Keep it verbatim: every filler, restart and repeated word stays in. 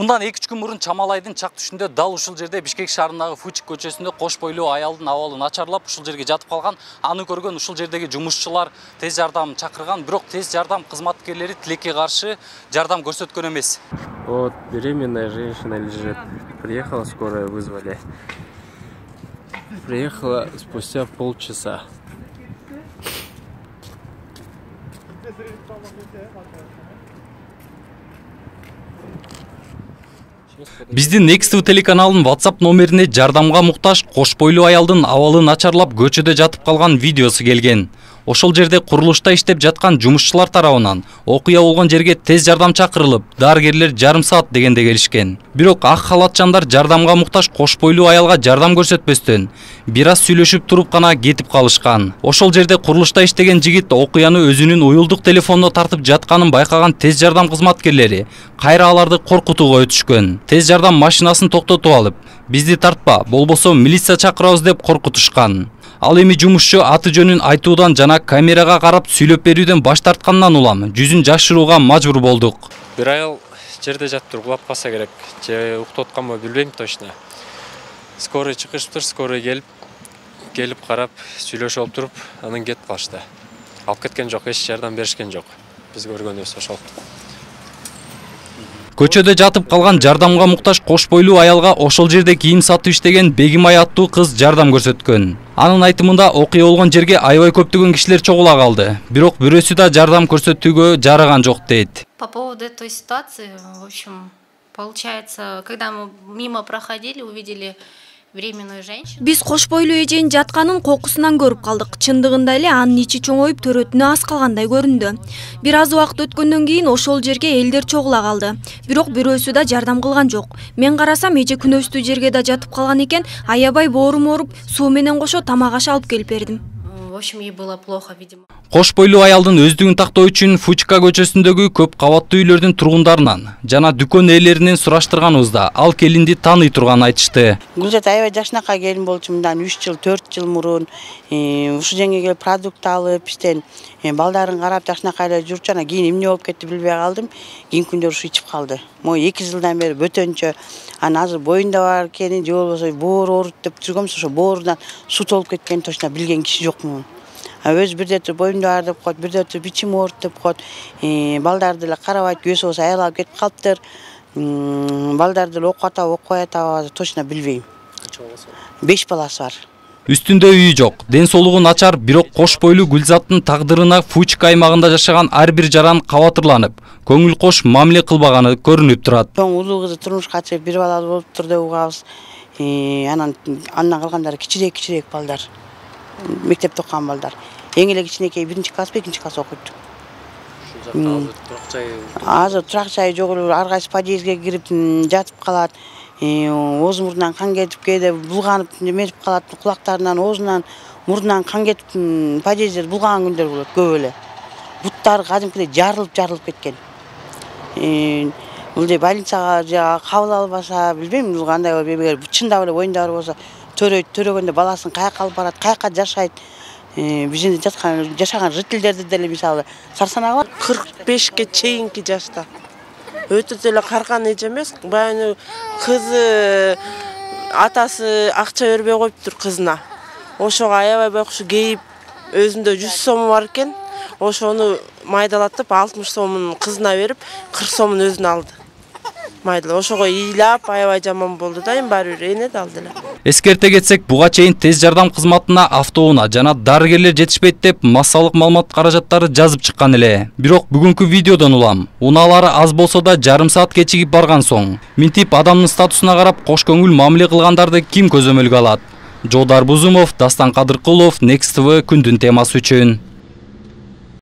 Мындан эки үч күн мурун Чамалайдын чак түшүндө дал ушул жерде Бишкек шаарындагы Фучик көчөсүндө кош бойлуу аялдын абалы начарлап ушул жерге жатып калган. Аны көргөн ушул жердеги жумушчулар тез жардам чакырган, бирок тез жардам кызматкерлери тилекке каршы жардам көрсөткөн эмес. Вот беременная женщина лежит. Приехала скорая, вызвали. Приехала спустя полчаса. Биздин Next ти ви телеканалынын WhatsApp номерине жардамга муктаж кош бойлуу аялдын абалы начарлап көчөдө жатып калган видеосу келген. Ошол жерде курулушта иштеп жаткан жумушчулар тарабынан окуя болгон жерге тез жардам чакырылып, дарыгерлер жарым саат дегенде келишкен. Бирок ак халатчандар жардамга муктаж кош бойлуу аялга жардам көрсөтпөстөн бир аз сүйлөшүп туруп гана кетип калышкан. Ошол жерде курулушта иштеген жигит окуяны өзүнүн уюлдук телефонуна тартып жатканын байкаган тез жардам кызматкерлери кайра аларды коркутууга өтүшкөн. Тез жардам машинасын токтотуп алып, бизди тартпа, болбосо милиция чакырабыз деп коркутушкан. Ал эми жумушчу аты жөнүн айтуудан жана камерага карап сүйлөп берүүдөн баш тарткандан улам жүзүн жашырууга мажбур болдук. Бир айыл жерде жатып кулап калса керек, же уктап атканбы билбейм точно. Скорый чакырыптыр, скорый келип, келип карап, сүйлөшүп алып туруп, анан кетип калышты. Алып кеткен жок, эч жардам беришкен жок. Биз көргөнүбүз ошол. Көчөдө жатып калган жардамга муктаж кош бойлуу аялга ошол жерде кийим сатып иштеген Бегимай аттуу кыз жардам көрсөткөн. Анын айтымында окуя болгон жерге аябай көптөгөн кишилер чогула калды. Бирок бирөөсү да жардам көрсөтүүгө жараган жок дейт. По поводу этой ситуации, в общем, получается, когда мы мимо проходили, увидели беременную женщину. Биз кош бойлуу эженин жатканын кокусунан көрүп калдык. Чындыгында эле анын ичи чоңоюп төрөтүнө аз калгандай көрүндү. Бир аз убакыт өткөндөн кийин ошол жерге элдер чогула калды. Бирок бирөөсү да жардам кылган жок. Мен карасам эже күнөстүү жерге да жатып калган экен. Аябай боорум ооруп, суу менен кошо тамак аш алып келип бердим. В общем, ей было плохо, видимо. Кош бойлуу аялдын өздүгүн тактоо үчүн Фучика көчөсүндөгү көп кабаттуу үйлөрдүн тургундарынан жана дүкөн ээлеринен сураштырганыбызда ал келинди тааный турганын айтышты. Гүлзат аябай жакшынакай келин болчу, мындан үч жыл, төрт жыл мурун ушул жерге келип продукт алып, иштен балдарын карап жакшынакай эле жүрчү. Анан кийин эмне болуп кетти билбей калдым. Кийин күндөр ушу ичип калды. Могу эки жылдан бери бөтөнчө. Анан азыр боюнда бар экенин, же болбосо боор ооруп деп жүргөнбүз, ошо боорунан суу толуп кеткенин точно билген киши жокмун. Өз бирде туруп боюмда бар деп коет, бирде туруп ичим ооруп деп коет. Балдарды эле карабайт, күйөөсү болсо аял алып кетип калыптыр. Балдарды эле окуп атабы, окуй атабы, точно билбейм. Канча баласы бар? беш баласы бар. Үстүндө үйү жок, ден соолугу начар, бирок кош бойлуу Гүлзаттын тагдырына Фучик аймагында жашаган ар бир жаран кабатырланып, көңүл кош мамиле кылбаганы көрүнүп турат. Чоң улуу кызы турмушка чыгып бир балалуу болуптур деп угабыз. Анан андан калгандары кичирээк-кичирээк балдар. Мектепте окуган балдар. Эң эле кичинекей биринчи класс, экинчи класс окуйт. Азыр турак жайы жок эле, ар кайсы подъездге кирип жатып калат. Оозу мурдунан кан кетип, кээде булганып неметип калат, кулактарынан, оозунан, мурдунан кан кетип, подъездде булган күндөр болот көп эле. Буттары кадимкидей жарылып-жарылып кеткен. Бул же больницага же кабыл албаса, билбейм, кандай болот, чындап эле боюнда бар болсо, төрөйт, төрөгөндө баласын каяка алып барат, каяка жашайт. Биздин жаткан жашаган жителдерди деле мисалы сарсанагы кырк бешке чейинки жашта. Өтө деле карган эже эмес, баягы кызы атасы акча бербей коюптур кызына. Ошого аябай байкушу кейип, өзүндө жүз сому бар экен. Ошону майдалатып алтымыш сомун кызына берип, кырк сомун өзүнө алды. Майдал ошого ыйлап аябай жаман болду да, эми баары бир эне алды эле. Эскерте кетсек, буга чейин тез жардам кызматына автоунаа жана дарыгерлер жетишпейт деп массалык маалымат каражаттары жазып чыккан эле. Бирок бүгүнкү видеодон улам унаалары аз болсо да жарым саат кечигип барган соң, минтип адамдын статусуна карап кош көңүл мамиле кылгандарды ким көзөмөлгө алат? Жодар Бузумов, Дастан Кадыркулов, Next ти ви күндүн темасы үчүн.